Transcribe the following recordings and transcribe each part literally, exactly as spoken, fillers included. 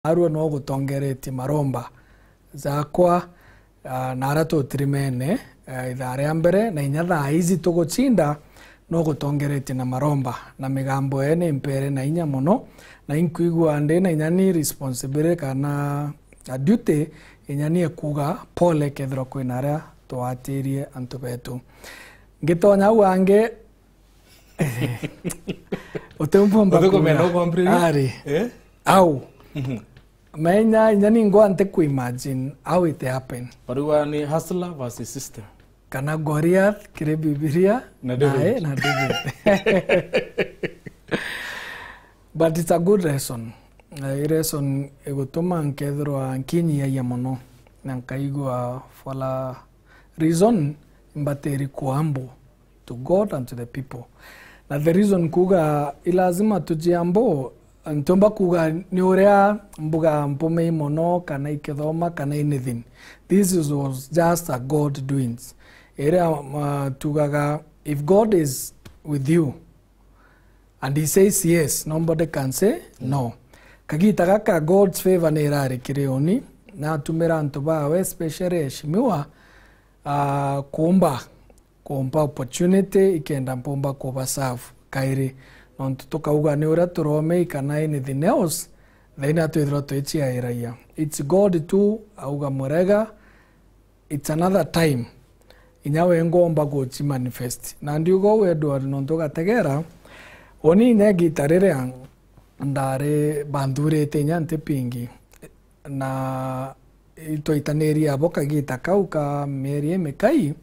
Arua no gutongeretie maromba jakwa, ah, na aria tutirimene, ah, ithaa ria mbere, na inya thaa ici tugucinda, no gutongeretie na maromba, na migambo ee ni mpere na inya mono, na inkwigua ndi na inya ni responsibility kana a duty, inya ni ekuga pole kethirwa kwina aria twatirie antu betu. Ngitonya au angi, utiumbumba Uthukumia kuuga. No complain? Ari. Eh? Au. Mhm. Menya, inya ningwa nte ku imagine how it happened. Bariwa ni hustler versus system. Kana Goliath kiri Bibilia, Na David. Nae na David. But it's a good lesson. Eh, i lesson igutuma nkethirwa nkinyiagia mono, na nkaigua for a reason mbatiri ku humble to God and to the people. Na the reason kuuga i lazima tujiambo, ntiumba kuuga ni uria mbuga mpumei mono, kana ikithoma, kana anything. This is, was just a God doings. Iria, uh, tugaga, if God is with you and he says yes, nobody can say no. Kagita gaka God's favor ni irari kiri uni, natumira antu bawe, especially Eshimiwa, uh, kumba kumpa opportunity ikenda mpumba kuba serve kairi. Nontu tukauga ni uria turomei kana anything else, thaina twithirwa twiciairagia. It's God tu auga murega, it's another time. Inya we ngomba guci manifest. Na ndiuga uu Edward nontu ugategera, uni inya igita riria ndari banthurite inya nti pingi. Na itwaitanirie abo kagita kau ka mieri imikai,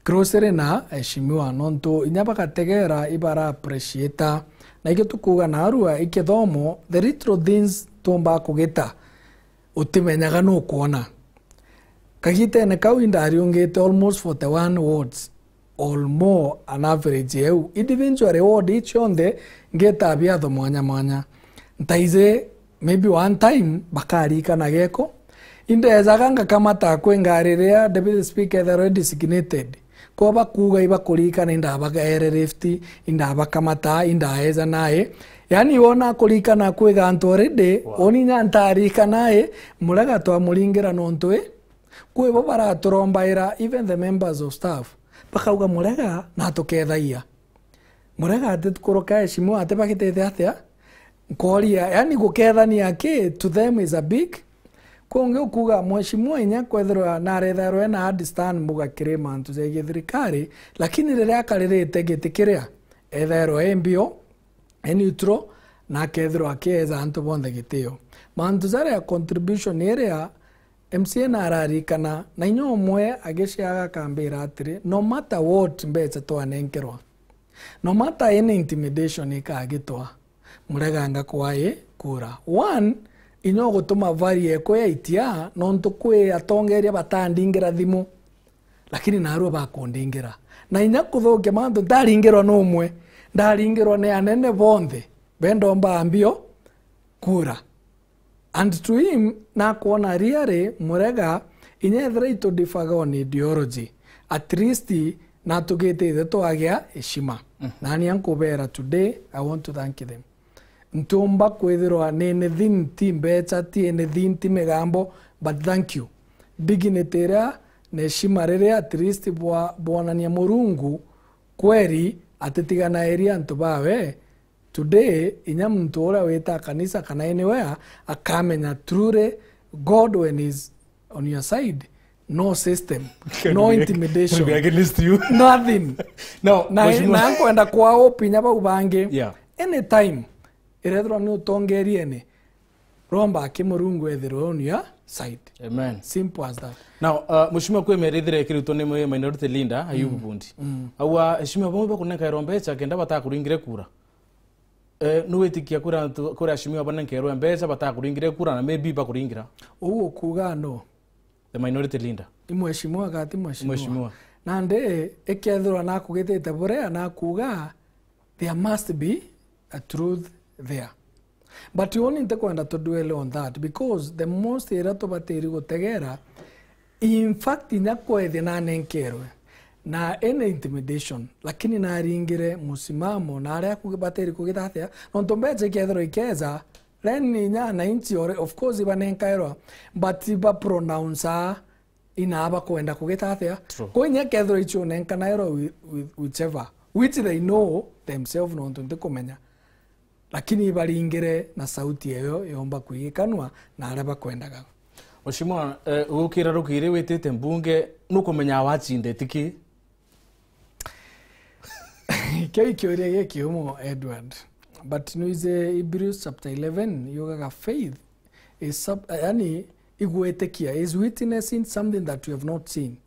closely na Eshimiwa, nontu inya bagategera ibara appreciate. Na ikio tukuuga narua ikithomo, the little things tuumbaa kugita, utimenyaga nukwona. Kagitene kau indariungite almost forty-one words. Or more an average eu. Individually ward ii cionthe ngeta biatho mwanya mwanya. Ntaize maybe one time bakarikana geko. Indejaga ngakamata kwi ngari riria Deputy Speaker ethirwa designated. Kwa bakuuga ibakurikana indabagaere lift, indabakamata, indaeja nae. Yani wona akurikana kwi gantu already, Wow. Oni nya ntarikana i, murega twamuringira nontu i. Kwi bo baraturombaira, even the members of staff. Bakauga, "Murega natukethagia. Murega atikuruka Eshimiwa atibagitite atia?" Nkoria, yani gukethania ki to them is a big. Kungi ukuga, "Mheshimiwa inya kwethirwa narethairwa ena hard stand mbuga kiri mantu ja githirikari, lakini riria akaririte giti kiria, ethairwa e mbio, e neutral, na akethirwa akieja antu bonthe gitio." Mantu jaria contribution iria M C A nararikana, na inya umwe agiciaga akambira atiri, "No matter what mbeca twanenkerwa, no matter any intimidation ikagitwa, Murega ngakwa i kura." One, inya ugutuma value ekwe yaitia, nontu kwi atongeria batandingira thimu. Lakini narua bakundingira. Na inya kuthukia mantu, ndaringirwa numwe. Ndaringirwa ni anene bonthe. Bendomba mbio kura. And to him, nakwona really, Murega, inya ethira itudifaga on ideology, at least natugitite twagia heshima. Mhm. Nani ankubera today, I want to thank them. Ntiumba kwithirwa ni anything, ti mbeca, ti anything, ti migambo, but thank you. Dignity iria na heshima riria at least bwa-, bwonania Murungu kweri atitiganairia antu bawe. Today, inya muntu uria wita kanisa kana anywhere, akamenya truly God when is on your side, no system, can no be, intimidation, can be against you. Nothing. Now, na, Mheshimiwa, na nkwenda kwa hope inya bau bangi. Yeah. Anytime irethirwa ni utongeriene, romba aki Murungu ethirwe on your side. Amen. Simple as that. Now, uh, Mheshimiwa, kwi mieri ithire ikiritwo ni minority leader, Ayubu, mm, Bundi. Mm. Aua, Mheshimiwa, bamwe bakunenkairwa mbeca kenda batakuringire kura. Eh, nugwitikia kura antu, kura Mheshimiwa banenkerwe mbeca batakuringire kura na maybe bakuringira? Uu ukuga no? The minority leader. I mheshimiwa gati mheshimiwa. Mheshimiwa. Nandi ikethirwa nakugitite buria nakuga, there must be a truth there. But uni ntikwenda to dwell on that because the most iria tubatiri gutegera, in fact, inya kwethia nanenkerwe na any intimidation, lakini naringire musimamo na aria kugi-, batiri kugita atia, nontu mbeca ikethirwa ikeja, Then inya ananchi ore-, of course ibanenkairwa, but iba pronounce inaa bakwenda kugita atia. True. Kwa inya kethirwa ichunenkanirwa whi-, whi-, whichever, which they know themselves nontu ntikumenya. Lakini ibaringire na sauti eyo yomba kwigikanwa na aria bakwendaga. Mheshimiwa, eh, gukira rukiri witite mbunge, nukumenyaa wachindite ki? Kiu ikiuria gikiumo, Edward. But nwije Hebrews chapter eleven yugaga faith is sub-, yani, igwitikia, is witnessing something that we have not seen.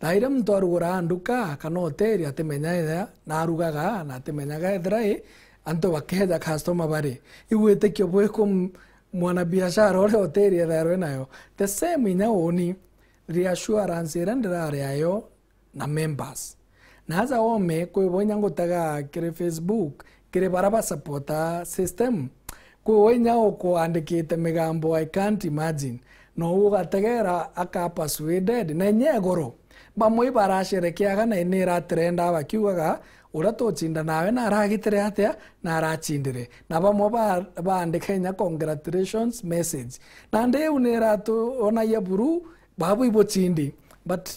Thaa iria muntu aruguraga nduka kana hoteli, atimenya ethira na arugaga na atimenyaga ethira i antu bakeja customer bari. Igwitikio bwiku m-, mwanabiashara uria hoteli ethairwe nayo? The same inya uuni, reassurance iria ndirari ayo na members. Na aja ome, kwi bo inya ngutaga kiri Facebook, kiri bara ba supporter system. Kwi bo inya ukuandikite migambo, I can't imagine. No ugategera aka persuaded, na inya igoro. Bamwe ibarasherekeaga na ni iratrenda bakiugaga, "Uria tuchinda nawe na aragitire atia, na arachindire." Na bamwe ba-, baandika inya congratulations message. Na ndi iu ni iratuonagia buru, babu ibuchindi. But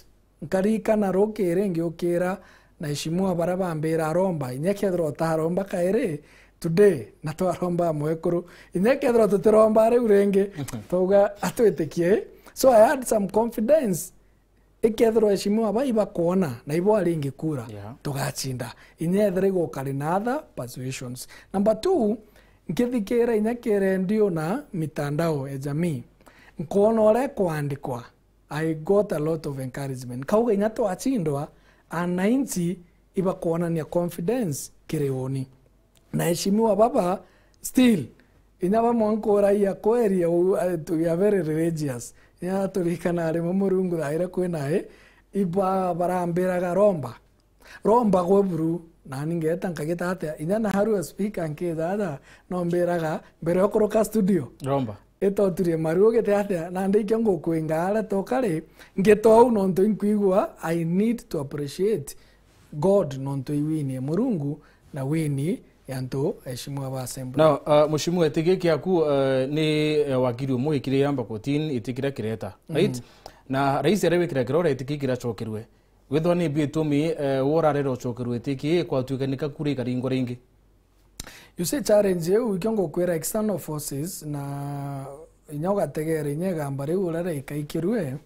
nkarikana rukiri ngiukira na Mheshimiwa baria bambira aromba, inya kethirwa utaromba kairi, today na twaromba mwekuru, inya kethirwa tutiromba riu ringi, twauga atwitikie. So I had some confidence, ikethirwa Mheshimiwa bai bakwona na ibo aringi kura, yeah, tugachinda. Inya ethira igukari na other persuasions. Number two, nkithikira inya ki redio na mitandao ya jamii, nkoona uria kwandikwa, I got a lot of encouragement. Kauga inya twachindwa, ananchi ibakwonania confidence kiri uuni. Na Mheshimiwa baba, still, inya bamwe nkuragia kweri, u-, eh, we are very religious. Inya turikana rimwe Murungu thaa iria kwina i, iba barambiraga romba. Romba gwe buru, nani ngeta nkagita atia? Inya na harua speaker nkitha aja, no mbiraga, mbere okuruka studio, romba, itoturie maru ugite atia? Nandi ikio ngukwinga aria tokari, ngita uu nontu inkwigua, I need to appreciate God nontu i wini ya Murungu na wini ya antu Mheshimiwa ba assembly. Now, uh, Mheshimiwa, iti giki giaku, uh, ni, uh, wakiri umwe wikire yamba kotini, iti kiria kireta, right? Mm. Na rais aria wikira kirore, iti kii kiracokerwe. Withwa ni bitumi, eh, we urarera ucokerwe iti ki, kwatuika ni ka kura ikaringwa ringi? You see, challenge iu, ikio ngukwira, external forces, na inya ugategera inya igamba riu uria rikaikirue,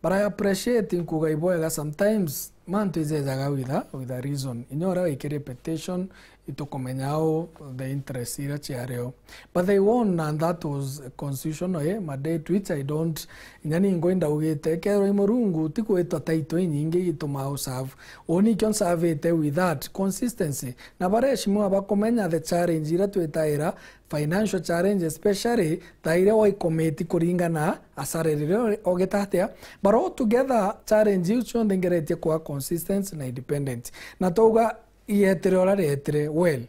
but I appreciate, nkuga ibwega, sometimes mantu ijejaga with a, with a reason. Inya uria wikiri petition, itukumenya au the interest iria ciario. But they won, and that was constitutional, eh, mandate, which I don't, inya ni ngwenda ugite, kethirwa i Murungu, ti kwitwa title inyingi igitumaa u serve. Uni ikio nsavite with that consistency. Na baria Mheshimiwa bakumenya the challenge iria twitaira, financial challenge especially, ta iria waikomiti kuringana asara riria ogita atia. But all together, challenge iu cionthe ngeretie kwa consistency na independent. Na twauga, ietire uria rietire, well,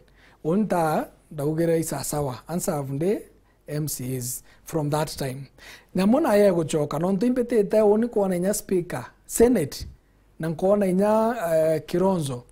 unta ndaugire isasawa, ansavu ndi M C As from that time. Nyamu nayo egucoka, nontu imbitite uni kwona inya speaker, senate, na nkona inya, eh, Kilonzo,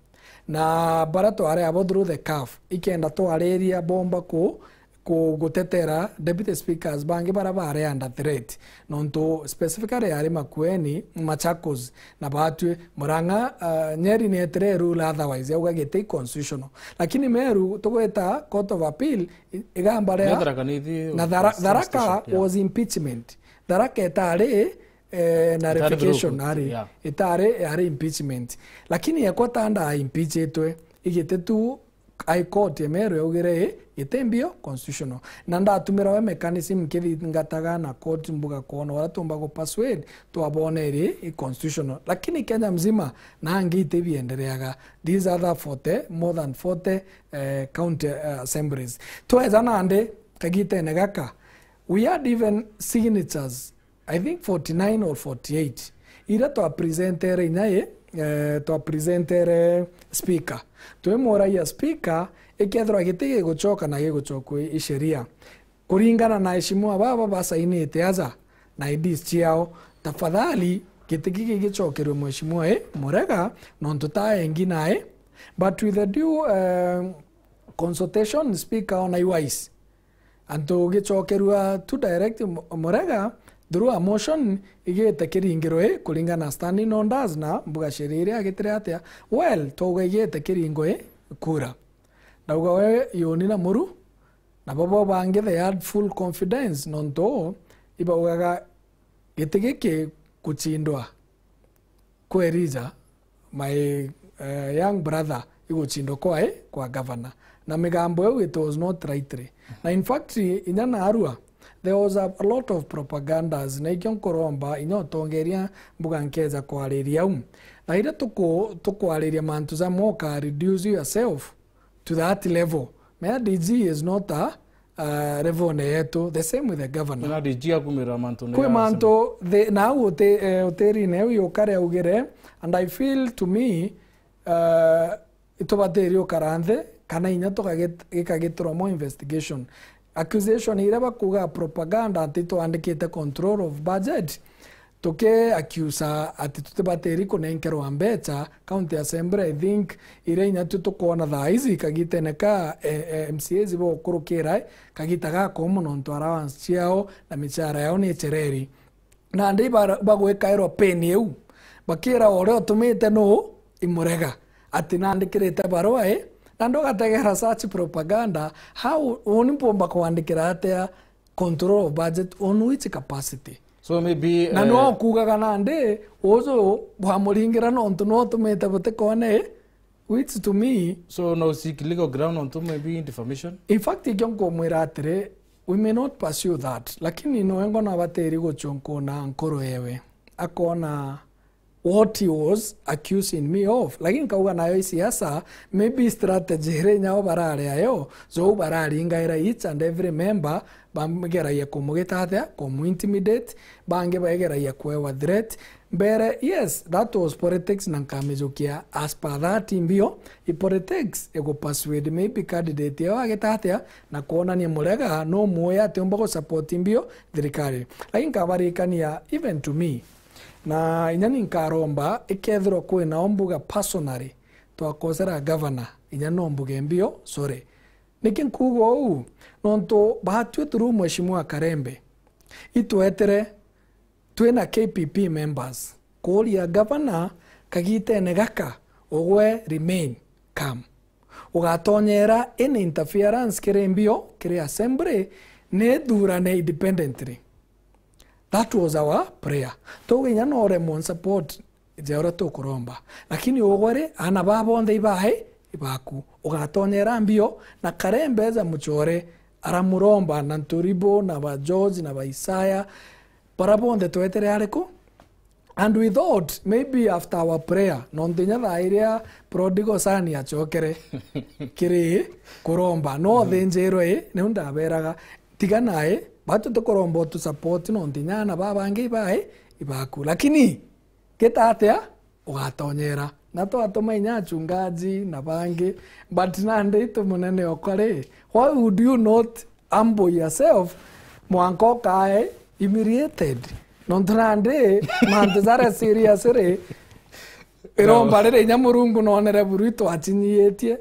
na bara twari abo through the curve, ikenda twariria bomba ku ku-, gutetera deputy speakers bangi bara bari under threat, nontu specifically yari Makueni, Machakos, na batwi Murang'a, uh, Nyeri ni etire rule otherwise, yauga giti constitutional. Lakini Meru, tugweta Court of Appeal, i-, igamba ria na Tharaka Nithi na Thara-, Police Tharaka Station, yeah, was impeachment. Tharaka etari, eh, nullification, through court, ari, yeah, itari, ari impeachment. Lakini yekwa tanda impeachitwe, igite tu High Court ya Meru yaugire, "Ii, giti mbio constitutional." Na ndatumira we mechanism nkithingataga na court mbuga kwona uria tumba gu persuade, twabona iri i constitutional. Lakini Kenya mzima, na angi iti biendereaga. These other forty, more than forty, eh, county, eh, assemblies. Tweza nandi, kagitene gaka, we had even signatures I think forty-nine or forty-eight. Iria twa presentere inya i, eh, twa presentere speaker. Twimuragia speaker, ikethirwa giti gigucoka na gigucokwa i sheria. Kuringana na Mheshimiwa baba basainite aja na I Ds ciao, tafadhali giti giki gicokerwe Mheshimiwa i Murega, nontu ta engi nae. But with the due, eh, consultation, speaker ona i wise. Antu gicokerua tu direct mu-, Murega through a motion igite kiringiro i kuringana na standing orders na mbuga sheria iria agitire atia. Well, twauga igite kiringo i kura. Ndauga we Yoni na Muru, na bobo bangi they had full confidence nontu ibaugaga giti giki guchindwa kwa Elijah, my, eh, young brother, iguchindwa kwa, eh, kwa governor. Na migambo iu it was not rightly. Na in fact, inya narua, there was a, a lot of propagandas, na ikio nkuromba, inya utongeria mbuga nkeza kwariria u. Na iria tuku-, tukwariria mantu jamoka, reduce yourself to that level. Mea D G is not a, uh, level ne yetu. The same with the governor. Na D G akumira mantu ne kwi ya mantu the, na au uti-, eh, utirine eu yukare augire, and I feel to me, uh, itubatiri ukara nthi, kana inya tukagit-, gikagitirwa more investigation. Accusation iria bakuga propaganda ati twandikite control of budget, tuki accuse ati tutibatiri kunenkerwa mbecha. County Assembly, I think, iria inya tu tukwona thaa ici kagitene ka, eh, eh, M C As bokurukira, kagita gakomo nontu allowance ciao na michara yao ni ichereri. Nandi bara-, bagwikairwa pain iu, bakira uria utumite nuu? I Murega. Ati nandikirite barua i, nandi ugategera such propaganda. How uni mpomba kwandikira atia control of budget on which capacity? So maybe, na eh, no kugaga nandi uju bwamuringira nontu no utumite butikone, which to me, so no seek legal ground ontu maybe defamation? In fact, ikio nkumwira atiri, we may not pursue that, lakini noe ngona abatiri guchunkuna nkoro yewe, akona what he was accusing me of. Lakini nkauga nayo i siasa, maybe strategy iria inyao barari ayo, so bararingaira each and every member, bamugeragia kumugita atia, kumu intimidate, bangi baigeragia kwewa threat. Mbere, yes, that was politics, na nkamijukia as per that mbio, i politics igu persuade maybe candidate yao agita atia, na kwonania Murega no muoya atiumba gu support mbio thirikari. Lakini nkabarikania, even to me, na inya ni nkaromba, ikethirwa kwina o mbuga personally twakosera governor, inya no mbuge mbio, sorry. Niki nkuuga uu? Nontu batwi through Mheshimiwa Karembe, itwetere twina K P P members kuuria governor kagitene gaka, ugwe remain calm. Ugatonyera any interference kiri mbio, kiri assembly, ni thurane independently. That was our prayer. Tuge inya no uremwe support ja uria tukuromba. Lakini ugwe ri, aana baa bonthe ibae, ibaku. Ugatonyera mbio, na Karembe ja Muchore aramuromba, na Nturibo, na ba George, na ba Isaya, bara bonthe twetere ariku? And we thought maybe after our prayer, nontu inya thaa iria prodigal son achokere kiri kuromba, no thinjirwe i, niu ndaberaga, tiga nae, batu tukuromba utu support, nontu inya aana baa bangi ibae, ibaku. Lakini gita atia? Ugatonyera. Na twatuma inya achungaji na bangi, but nandi itu munene okwa ri, why would you not humble yourself mwanka ukae humiliated? Nontu nandi mantu jaria serious ri, iromba riri inya Murungu nonere buru itwachinyiitie.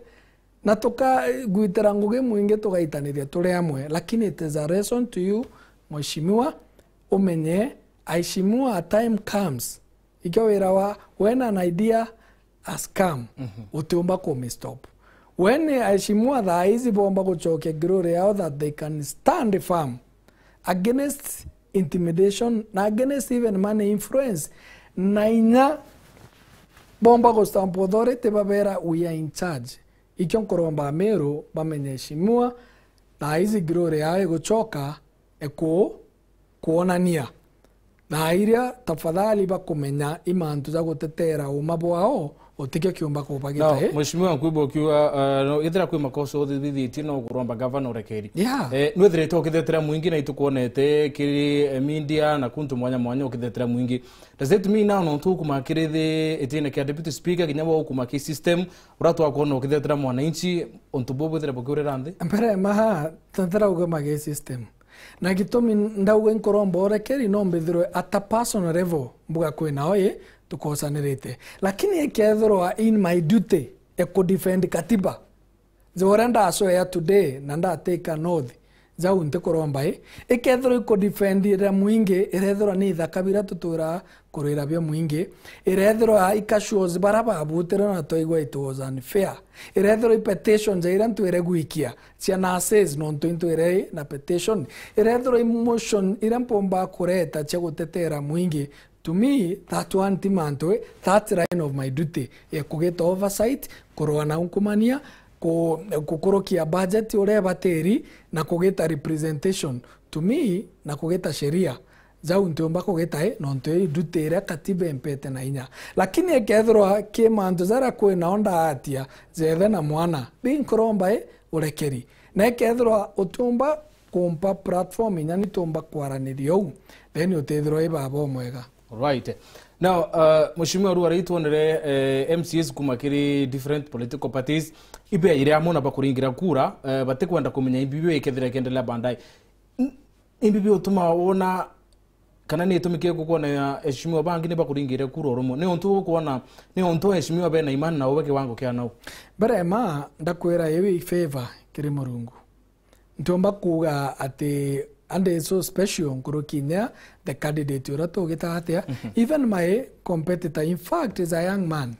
Na tukagwitira ngugi mwingi tugaitaniria turi amwe, lakini it is a lesson to you, Mheshimiwa, umenye, Aheshimiwa, a time comes, ikio wira wa, when an idea has come, utiumba kumistop. When aheshimiwa thaa ici bomba gucokia glory yao that they can stand firm against intimidation na against even money influence, na inya bomba gustamp authority babera, "We are in charge." Ikio nkuromba Ameru bamenye, heshimiwa, thaa ici glory yao igucoka iku-, kuonania. Thaa iria, tafadhali, bakumenya i mantu ja gutetera uma bwao, utikio kiumba kubagita. Now, eh? Mheshimiwa, nkwigua ukiuga, uh, no, ethira kwi makosa uthithitie, no kuromba gavana urekeri. Yeah. Eh, nwithirite ukithetera mwingi na itukwonete kiri, eh, media na kuntu mwanya mwanya ukithetera mwingi. Does it mean now nontu ukuma kiri thi itine kia deputy speaker, kinya bo ukuma ki system, uratwa kwona ukithetera mwananchi, untu bubu bwithire bukiurira nthi? Mbere maha, tethera ugema gi system. Na gitumi ndauga inkuromba urekeri, no mbithirwe at a personal level, mbuga kwina oi, tukosanirite. Lakini ikethirwa in my duty, e ku defend katiba, ja uria ndacwea today, na ndatake an oath, Jau ntikuromba i. Ikethirwa ikudefendira mwingi, irethirwa ni ithaka bira tutwira kurwira bio mwingi, irethirwa i cashews bara babutire na twaigua it was unfair, irethirwa i petitions iria ntwire gwikia cia nurses nontu intwire na petition, irethirwa i motion iria mpomba kureta cia gutetera mwingi, to me, that one ti mantu, eh, that's line of my duty. Eh, kugita oversight, kurwa na unkumania, ku-, kukurukia budget uria ibatiri, na kugita representation. To me, na kugita sheria. Jau ntiumba kugita, eh, nontu i duty iria katiba impete na inya. Lakini ikethirwa ki mantu jaria kwi nao ndaatia, jethe na mwana, bi nkuromba, eh, urekeri. Na ikethirwa utiumba kumpa platform inya ni tumba kwaraniria uu, then utithirwa i baba umwega. Right. Now, uh, Mheshimiwa, riu aria itwonere, eh, M C As kuma kiri different political parties, ibe ire amwe na bakuringira kura, eh, batikwenda kumenya imbibi ikethira ikiendelea baadaye. N-, imbibi utuma wona kana ni itumi kiriku kwona ya Mheshimiwa bangi ni bakuringire kura urumwe? Ni untu ukwona, ni untu Mheshimiwa bena imani na ube kiwango kia nau? Mbere ma ndakwira iu i favor kiri Murungu. Ntiumba kuuga ati ande so special nkuruki inya the candidate uria tugita atia. Mhm. Even my competitor, in fact, is a young man,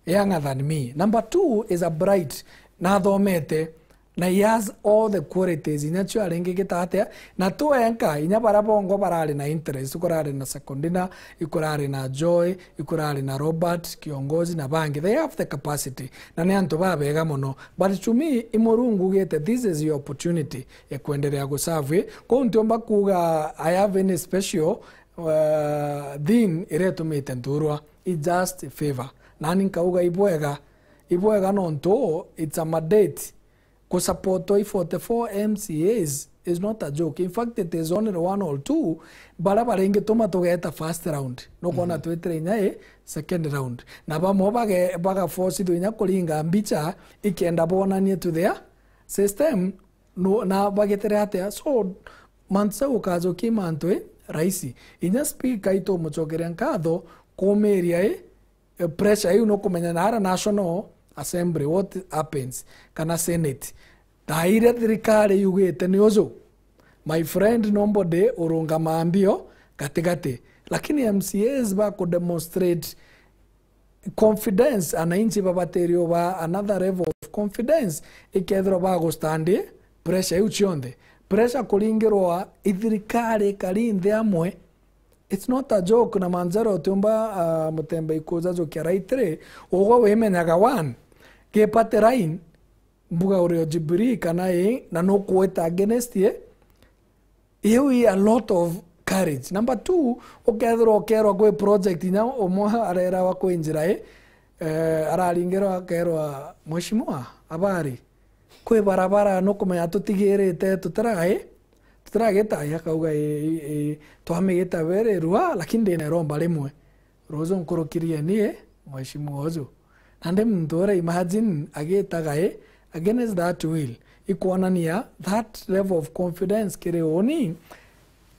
younger than me. Number two, is a bright, na athomete, na he has all the qualities inya cio aringigita atia, na tu enka, inya bara bongo barari na interest, kurari na Secondina, ikurari na Joy, ikurari na Robert Kiongozi na bangi. They have the capacity, na ni antu babega mono. But to me, i Murungu ugite, this is your opportunity ya kuendelea guserve. Kou ntiumba kuuga I have any special, uh, thing iria itumite nturwa. It's just a favor. Nani nkauga ibwega, ibwega nontu it's a mandate. Kusupport i forty-four M C As is not a joke. In fact, it is only one or two bara baringituma tugeta first round. Nukwona, mhm, twitire inya i second round. Na bamwe bage-, bagaforcithua inya kuringa mbicha ikenda bonanie to their system, no, na bagetere atia. So, mantu ja gukajokia i mantu i raisi. Inya speaker itumucokeria nkatho kumiria i, eh, pressure iu, nukumenya na ara National Assembly what happens, kana Senate. Thaa iria thirikari yugite ni uju, my friend, nobody urungamaa mbio gatigati. Lakini M C As ba kudemonstrate confidence, ananchi babatiri uba another level of confidence, ikethirwa bagustandi pressure iu cionthe. Pressure kuringirwa i thirikari ikari nthi amwe. It's not a joke, na manjara utiumba, ah, mutembe ikuja jukia right ri, ugwe wimenyaga one, gi party line, mbuga uri o Jubilee kana ii, na nukuita against ye, iu i a lot of courage. Number two, ukethirwa ukerwa kwi project inya umwe arerawa kwi njira ii, eh, araringirwa akerwa, "Mheshimiwa, habari? Kwi barabara nukumenya tutigirite, tutiragai, tutiragita." Akauga, "Ii, ii, ii, twamigita very rua, lakini ndina iromba rimwe. Ruju nkurukirie ni, Mheshimiwa uju." Nandi muntu uria, imagine, agitaga i against that will, ikwonania that level of confidence kiri uni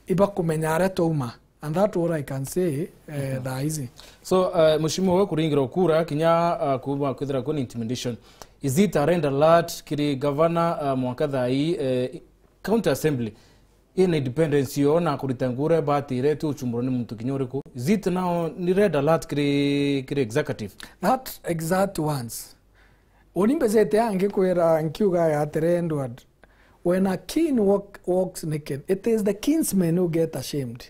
ibakumenya aria twauma. And that all I can say, eh, thaa ici. So, uh, Mheshimiwa, we kuringirwa kura, kinya, uh, kuuma kwithira kwina intimidation. Is it a red alert kiri governor, uh, mwanka thaa ii, uh, County Assembly ina independence yo na kurita ngura batire ti uchumburwa ni muntu kinya uriku? Is it now ni red alert kiri, kiri executive? That exact ones. Uni mbejete angikwira nkiuga ya atiri, Edward, when a king walk, walks naked, it is the kinsmen who get ashamed.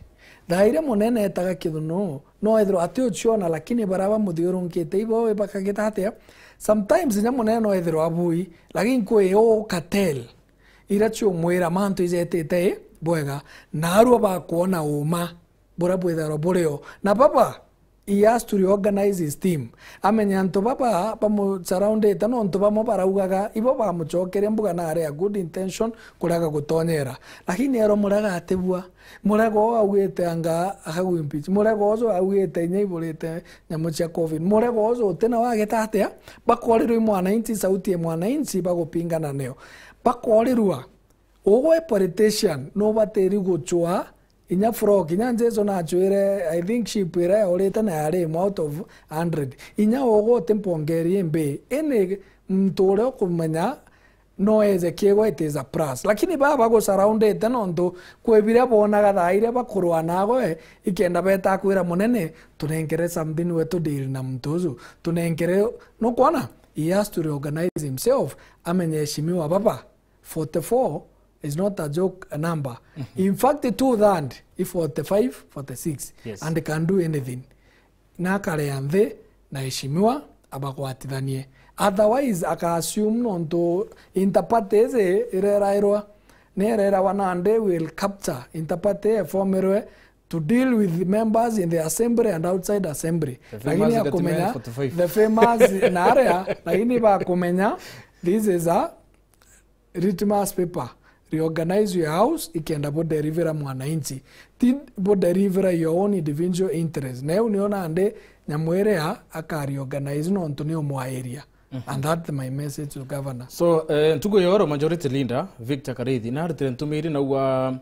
Thaa iria munene etaga kithunu, no ethirwa ati uciona, lakini baria bamuthiurunkite ibo bakagita atia? Sometimes inya munene no ethirwa abui, lakini kwi u cartel iria ciumwira mantu ijetite bwega, na arua bakwona uma buria bwithairwa burio. Na baba, he has to reorganize his team. Amenye antu baba bamusurroundite, nontu bamwe baraugaga, ibo bamucokeria mbuga na ari a good intention, kurega gutonyera. Lakini erwa Murega atibua. Murega uu augite anga akagwimpeach. Murega uju augite inya iburite nyamu cia covid. Murega uju utina wageta atia? Bakorirwa i mwananchi, sauti ya mwananchi, bagupingana nayo. Bakorirwa. Ugwe politician, nubatiri gucwa inya flock, inya Jesu nachwire, I think sheep iria yaurite na yari imwe out of hundred. Inya ugwe uti mpongeri imbi, ini muntu uria ukumenya no eze kiegwa, it is a plus. Lakini baba bagusurroundite nontu kwi biria bonaga thaa iria bakurwa nawe, ikenda beta kwira munene, "Tunenkere something we tu deal na muntu uju. Tunenkere," nukwona? He has to reorganize himself, amenye heshimiwa baba. Forty-four is not a joke number. In fact, two third, i forty-five, forty-six, Yes. and can do anything. Na akarea nthi na heshimiwa abagwatithanie. Otherwise, aka assume nontu interparty iji irerairwa, ni irerawa nandi will capture interparty efomerwe to deal with members in the assembly and outside assembly. The famous Lakini akumenya Gatmeni forty-five. The famous na aria, lakini bakumenya this is a litmus paper. Reorganize your house, ikenda budelivera mwananchi. Ti budelivera your own individual interest. Na eu nio nandi nyamu iria aka reorganize nontu ni umwairia. And that's my message to governor. So, eh, ntuku ya oro majority leader, Victor Karithi, na arutire ntumiri na ua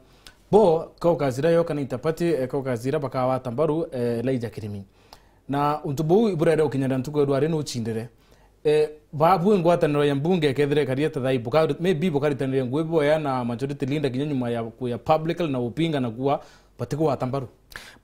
bo, caucus iria yoka na interparty, eh, caucus iria bakawata mbaru, eh, Elijah Kirimi. Na untu buu iburere ukinyira ntuku ya rwari nuchindire. Eh, babu ngwataniro ya mbunge kethire karia ta thai, buka-, maybe bukaritaniria ngui boya na majority leader kinya nyuma ya, ya public na upinga na kuwa batigwata mbaru.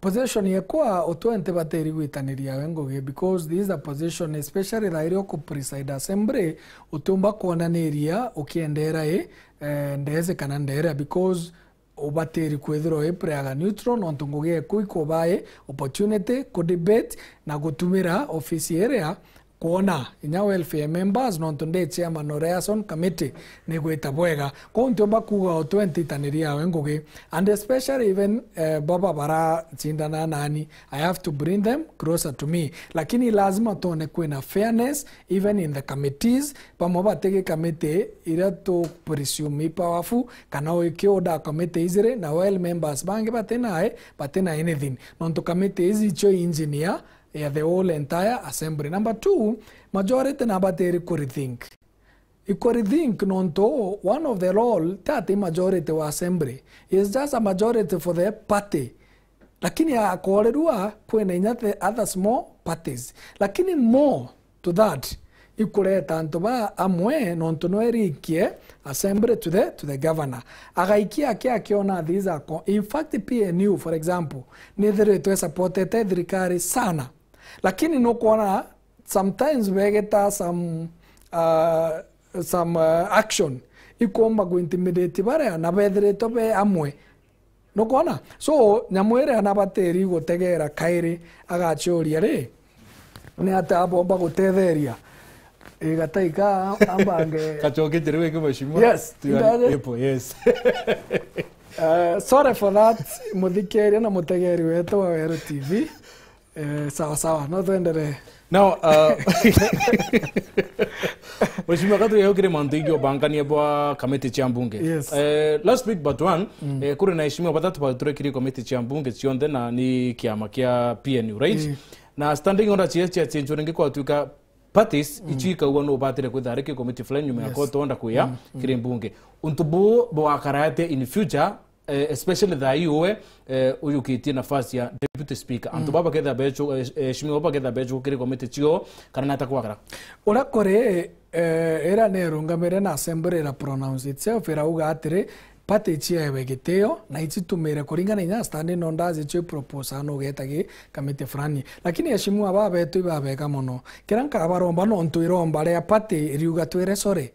Position yekwa utwente bateri gwitaniria we ngugi, because this is a position, especially thaa iria uku preside assembly, utiumba kwonaniria ukiendera i, eh, ndeze kana ndera, because ubatiri kwithirwa wi prayer neutral, nontu ngugi eku ikubae opportunity ku debate na gutumira ofisi iria kwona inya welfare members, nontu ndi chairman o liaison committee, ni gwita bwega. Kwou ntiumba kuuga o twenty itaniria yawe ngugi, and especially even, eh, baba barachindana nani, I have to bring them closer to me. Lakini lazima tuone kwina fairness even in the committees, bamwe batigi committee iria tu presume i powerful, kana ukiuda committee ijiri na well members bangi batina, batina anything, nontu committee iji icio engineer ya the whole entire assembly. Number two, majority na batiri ku rethink. Iku rethink nontu one of the role tati majority wa assembly, is just a majority for the party. Lakini akoorerua kwina inya the other small parties. Lakini more to that, ikureta antu ba amwe nontu no irikie assembly to the, to the governor. Agaikia aki akiona these are co-, in fact, P N U, for example, nithiritwe supportete thirikari sana. Lakini nukwona sometimes begeta some, uh, some, uh, action ikomba ku intimidate baria na bethiritwe be amwe. Nukwona? So, nyamu iria nabatiri gutegera kairi agachuria ri, ni atia abomba gutetheria? Igataika ambange. Kachoke njere weke mheshimiwa. Yes, Tiga ndaje. Ipo, yes. Eh, sorry for that, muthikiria na mutegeri wetu wa Weru T V. Eh, sawa sawa, no twenderee. Now, uh, Mheshimiwa, katu yau kiri mantu ingi ubangania bwa kamiti cia mbunge. Yes. Eh, last week but one, eh, kuri na heshimiwa batatu baturekire kamiti cia mbunge cionthe na ni kiama kia P N U, right? Eh. Na standing order cia, cia, cia cenjuri ingi kwatuika parties icio ikaua no batire kwithira ari ki committee fulani nyuma ya Yes. court order kuya kiri mbunge. Untu buu bwakara atia in future, eh, especially thaa ii uwe, eh, uyukitie nafasi ya deputy speaker? Antu baba baketha bechu, eh, eh, heshimiwa baba baketha bechu kiri committee cio, kana nata kwakara? Uria kuri, eh, ira nerungamire na assembly ira pronounce itself, irauga atiri, party iciewe gitio na icitumire kuringana inya standing orders icio ipropose no ugeta gi committee fulani. Lakini heshimiwa baba betu ibabega mono. Kira nkabaromba nontu iromba ria party iriuga twire sorry.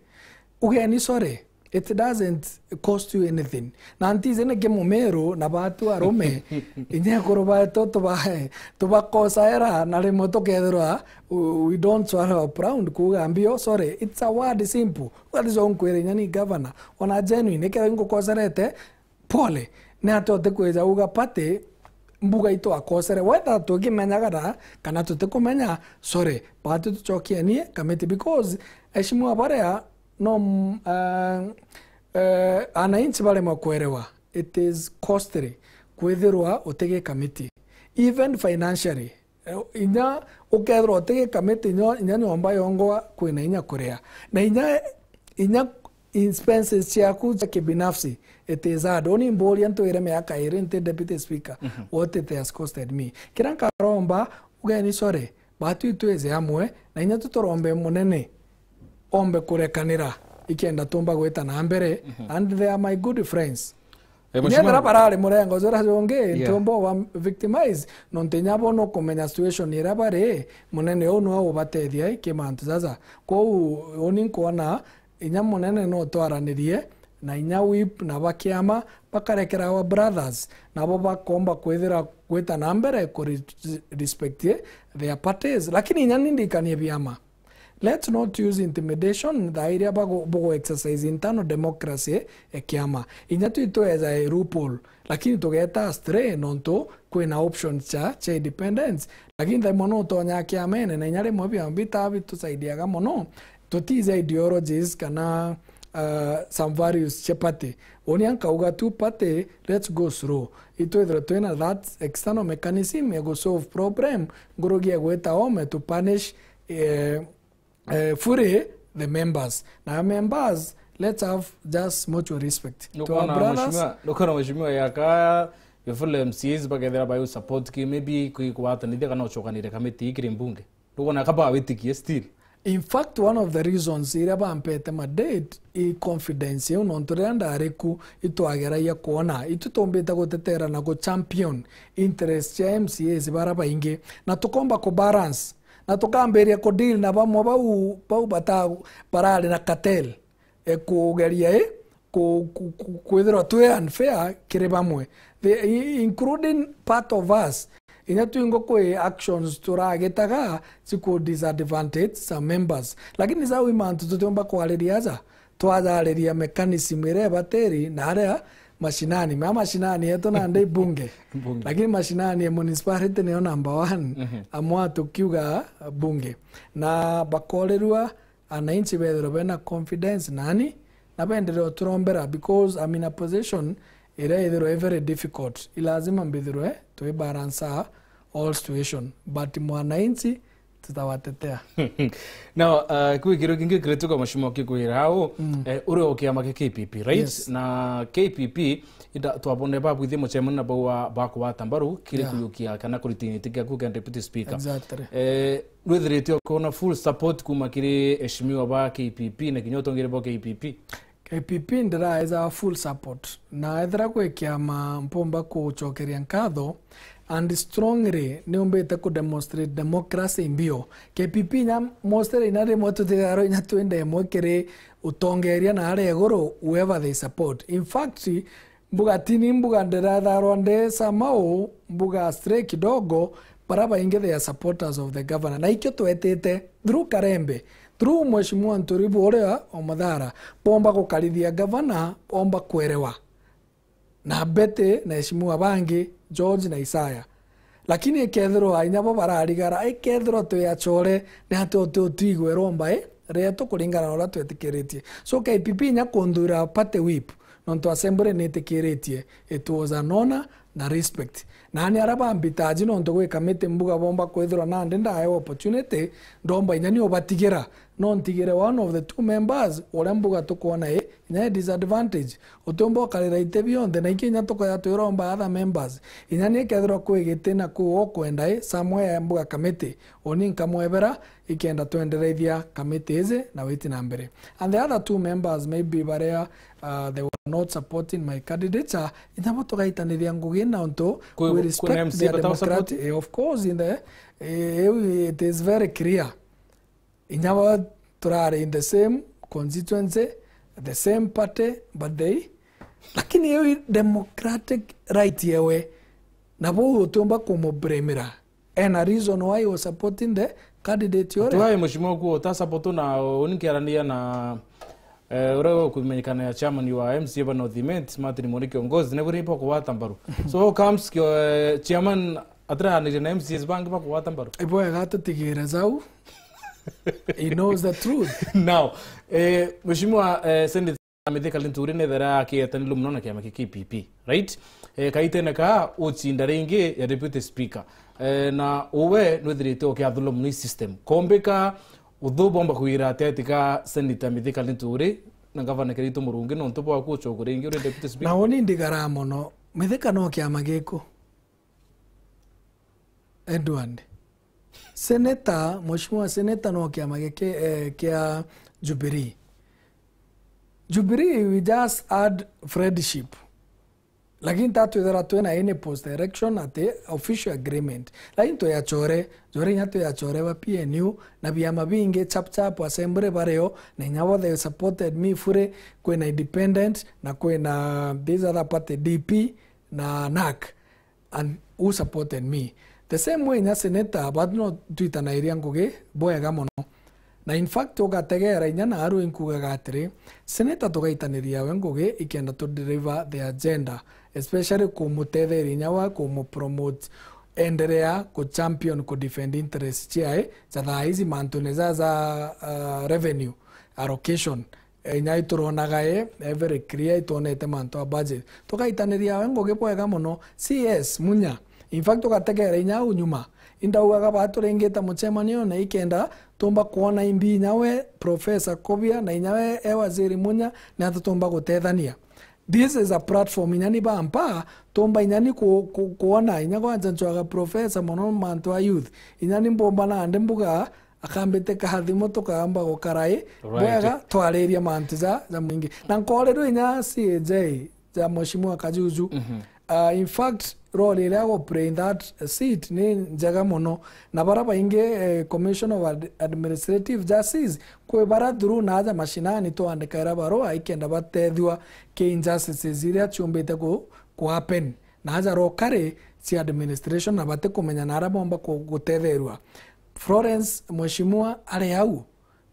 Ugeni sorry. It doesn't cost you anything. Na ntizi niki mumiru na batu arume, inya ekuru baitu tuba-, tubakosaera na rimwe tukethirwa we, we don't swallow our pride kuuga mbio, sorry. It's a word simple. Uga, "This one nkwire inya ni governor. Ona genuine, ikethirwa ingukoserete, pole." Ni atia utikwija uga party mbuga itwakosere? Whether tukimenyaga na kana tutikumenya, sorry. Batu tucokienie committee because, heshimiwa, baria no, mm, eh, eh, ananchi baremwa kwerewa, it is costly kwithirwa utigi committee, even financially. Eh, inya ukethirwa utigi committee, inya, inya nyomba yongwa kwina inya kuria. Na inya, inya expenses ciaku cia kibinafsi, it is hard. Uni mburia ntwire miaka iri nti deputy speaker, what it has costed me. Kira nkaromba, ugeni sorry, batu itwije amwe, na inya tuturombe munene ombe kurekanira. ikenda tumba gwita na mbere, and they are my good friends. Eh, inya mheshimiwa, ethira barari murengo jura jungi, yeah, ntumba wa victimize, nontu inya bo nukumenya situation iria bari, munene uu nwe ubatethia i ki mantu jaja. Kwou uni nkwona inya munene no twaranirie na inya whip na ba kiama bakarekera our brothers, nabo bakomba kwithira gwita na mbere ku re-, respect their parties. Lakini inya ni ndikanie biama. Let's not use intimidation thaa iria bagu-, bugu exercise internal democracy e kiama. Inya twi tweja e loophole, lakini tugeta astray nontu kwina options cha, cha independence. Lakini thaa imwe no utonya kiamene, na inya rimwe biama bitaa bitusaidiaga mono, tutiija ideologies kana, uh, some values cha party. Uni ankauga tu party, let's go slow. Itwithirwe twina that external mechanism ya gu solve problem, ngurugi ya gwita ome to punish, eh, eh, fully the members. Na members, let's have just mutual respect to our brothers. Nukona mheshimiwa, nukona mheshimiwa yaka your fellow M C As bakethira bayu support ki maybe kwi-, kugwatanithia kana ucokanire kamiti ii kiri mbunge? Nukona kaba witikie still? In fact, one of the reasons iria bampete ma date i confidence iu, nontu riria ndari ku itwageragia kwona itu tumbite gutetera na gu champion interest cia M C As bara baingi, na tukomba ku balance na tukambiria ku deal na bamwe bau, bau bata-, barari na cartel, e, kugeria, e, ku-, ku-, ku-, kwithirwa twi unfair kiri bamwe. The, i-, including part of us. Inya twingo kwi actions turagitaga ciku disadvantage some members. Lakini jau i mantu tutiumba kwariria aja, twajariria mechanism iria ibatiri na aria mashinani. Ma mashinani yetu nandi bunge. Bunge. Lakini mashinani ya municipality niyo number one. Mhm. Amwe tukiuga bunge. Na bakorirua ananchi bethirwe bena confidence nani, na benderee uturombera, because I'm in a position iria ithirwe i very difficult. I lazima mbithirwe twi balance all situation, but mwananchi tutawatetea. Now, uh, kwi kiru kingi kirituka mheshimiwa kikwira au, mm, eh, uri o kiama kia K P P, right? Yes. Na K P P, ita-, twabone babwithie mucemania na bau wa, ba kugwata mbaru kiri, yeah, kuyukia kana kuritinyitia kiaku kia deputy speaker. Exactly. Eh, Nwithirite ukiona full support kuma kiri eshimiwa ba K P P na kinya utongeri bwa K P P? K P P ndiraeza full support, na ethira kwi kiama mpumba kucokeria nkatho, and strongly niumbite ku demonstrate democracy mbio. K P P inya mostly inya rimwe tutithagirwa inya twinde imwe kiri utongeria na aria iguru, whoever they support. In fact, mbuga tini mbuga ndiretharwa ndi sama uu, mbuga stray kidogo, bara baingi they are supporters of the governor. Na ikio twetite through Karembe, through Mheshimiwa Nturibu uria o Muthara, bomba gukarithia governor, bomba kwerewa. Na Betty na eshimiwa bangi, George na Isaya. Lakini ikethirwa inya bo bararigara, ikethirwa twi achore, ni ati uti utigwe romba i rietu kuringana na uria twetikiritie. So K P P inya kunthura party whip, nontu assembly nitikiritie, it was an honor na respect. Nani aria bambitaji nontu gwi kamiti mbuga bomba kwithirwa nandi ndaewa opportunity, ndomba inya ni ubatigira. No ntigire one of the two members uria mbuga tukwona i inya i disadvantage. Utiumba ukarira iti bionthe, na ingi inya tukoya twiromba other members. Inya ni kethirwa kwi giti na kuu ukwenda i somewhere mbuga kamiti, uni nkamwebera ikenda twendereithia kamiti iji na witi na mbere. And the other two members maybe baria, uh, they were not supporting my candidature, inya bo tugaitanithia ngugi na untu we respect their democratic, eh, of course, in the, eh, it is very clear. Inya bo turari in the same constituency, the same party, but they, lakini iu i democratic right yewe, na bou utiumba kumublamira. Ena reason why he was supporting the candidate uria. Tuaye mheshimiwa kuo uta support na uni nkiarania na, eh, uria ukumenyekana ya chairman wa M C A ba North Imenti, Martin Mori Kiongozi, na buri ipo kuwata mbaru. So how comes kio, eh, chairman atiranirie na M C As bangi ba kuwata mbaru? Ibwega tutigire zau. He knows the truth. Now, eh, mheshimiwa, eh, Senator Mithika Linturi nethera akietanilu muno na kiama kia K P P, right? Eh, kaitene ka ucinda ringi ya deputy speaker. Eh, na uwe nwithirite ukiathulwa muno i system. Kombika uthu bomba kwira ati ati ka Senator Mithika Linturi na Gavana Kiraitu Murungi nontu bwa kucogwa ringi uri deputy speaker? Na uni ndigara mono. Mithika no kiama giku? Edward. Senator, mheshimiwa senator no kiama giki, eh, kia Jubilee. Jubilee, we just had friendship. Lakini tatwithira twina any post election ati official agreement. Lakini tuyachore, jore inya tuyachore ba P N U na biama bingi chap chap assembly bario, na inya bo they supported me fully, kwina independent, na kwina this other party D P na NARC, and who supported me. The same way inya senator, but no twitanairia ngugi bwega mono. Na in fact, ugategera inya na aru inkugaga atiri, senator tugaitaniria we ngugi ikenda tu deliver the agenda, especially kumutetheria inya wa kumu promote, endelea ku champion, ku defend interest ciae, ja thaa ici mantune ja, ja, uh, revenue allocation. Eh, inya ituronaga e, eh, very clear, itwonete mantu a budget. Tugaitaniria we ngugi bwega mono. C S Munya. In fact, tugategera inya au nyuma. Indaugaga baturingite mucemanio na ikenda tumba kuona imbi inya we Professor Kobia na inya we e Waziri Munya, ni ata tumba gutethania. This is a platform inya ni bampa, tumba inya ni ku-, ku-, kuona, inya kwanja ncwaga Professor mono mantu a youth. Inya ni mbomba nandi mbuga, akambite kathimo tukamba gukara i Right. bwega twariria mantu ja, ja mwingi. Na nkorirwe inya C A J ja Mheshimiwa Kajuju. Mhm. Uh, in fact, role iria ago play in that seat ni njega mono. Na bara baingi, eh, Commission of Ad-, Administrative Justice, kwi bara through na aja mashinani twandikaira barua ikenda batethua ki injustices iria ciumbite ku, ku happen. Na aja rokari cia administration na batikumenya na aria bomba ku-, gutetherua. Florence, Mheshimiwa ari au.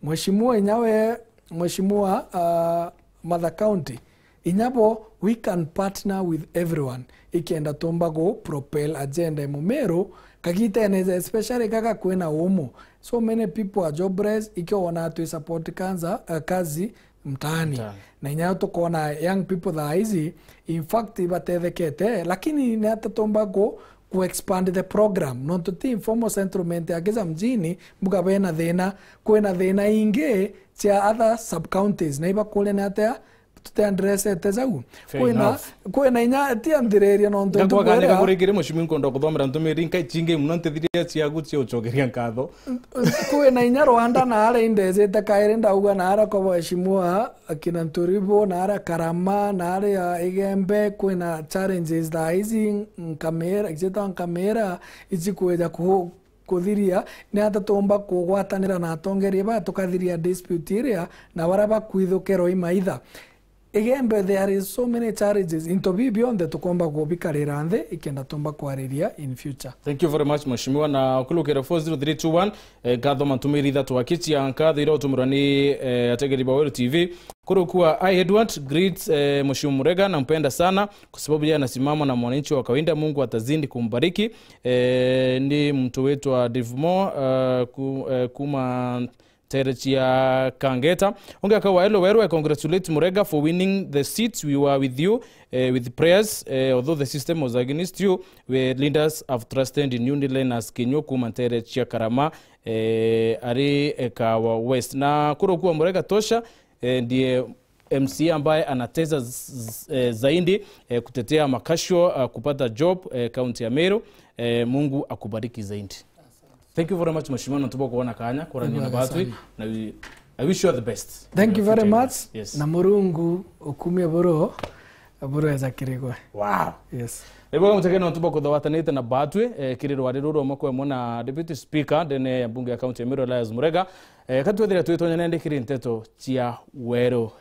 Mheshimiwa inya we, Mheshimiwa, uh, Martha County, inya bo, we can partner with everyone. Ikenda tumba gu propel agenda ya Mumiru, kagitene, especially kaka kwina umu. So many people are jobless, ikio wona twi support kanza, uh, kazi mtaani. Mtaani. Na inya tukona young people thaa ici, in fact, ibatethekete, lakini ni ata tumba ku, ku expand the program. Nontu ti informal settlement ya Kija mjini, mbuga bena thina, kwina thina ingi cia other sub counties, na ibakuria ni atia tutiandresete jau. Fair Kwina, enough. Kwina inya, ti anthiriria nontu Ngakwaga ntukwira nigakurikiria mucimi nkwenda kuthomera ntumiri nkai chingi muno ntithiria ciaku cia ucokeria nkatho. Kwina inya Rwanda na aria indejete kairi ndauga na aria kwa waheshimiwa akina Nturibo, na aria Karama, na aria Igembe, kwina challenges thaa ici nkamira, ijeta nkamira, ici kwija ku-, kuthiria, ni ata tumba kugwatanira na atongeria ba tukathiria dispute iria, na bara bakwithukirwa imaitha. Igembe, there is so many challenges. Into bi bionthe tukomba kubikarira nthi, ikenda tumba kwariria in future. Thank you very much, Mheshimiwa. Na ukulukira four zero three two one, eh, ngatho mantumiri ithatu akichia nkatho iria utumirwa ni, eh, ategeri ba Weru T V. Kurukua, I Edward, greet, eh, Mheshimiwa Murega, nampenda sana kwa sababu yeye anasimama na mwananchi wa kawaida. Mungu atazidi kumbariki. Eh, ni mtu wetu wa Divmo, eh, ku-, eh, kuma Terechi ya Kangeta. Ungi akawa, "Hello Weru, I congratulate Murega for winning the seat. We were with you, eh, with prayers, eh, although the system was against you. We leaders have trusted in you." Ni Linus Kinyua kuma Terechi ya Karama, eh, ari, eh, Kawa West. Na kurukua Murega tosha, eh, ndiye M C A ambaye anateza z-, z-, eh, zaidi, eh, kutetea makasho, ah, kupata job, eh, kaunti ya Meru. Eh, Mungu akubariki zaidi. Thank you very much, Mheshimiwa, na tubo kuona kanya kurania na Ibwega batwi, sana. Na we, I wish you all the best. Thank you very much. Yes. Na Murungu ukumie buru, buru eza kirigwe. Wow. Yes. Ebo muteke no tubo kuthawatanite na batwi, eh, kiri rwari ruru mwe mwe na Deputy Speaker ndene ya bunge ya kaunti ya Meru, Elias Murega. Eh, katwethira twitonya nende kiri nteto cia Weru.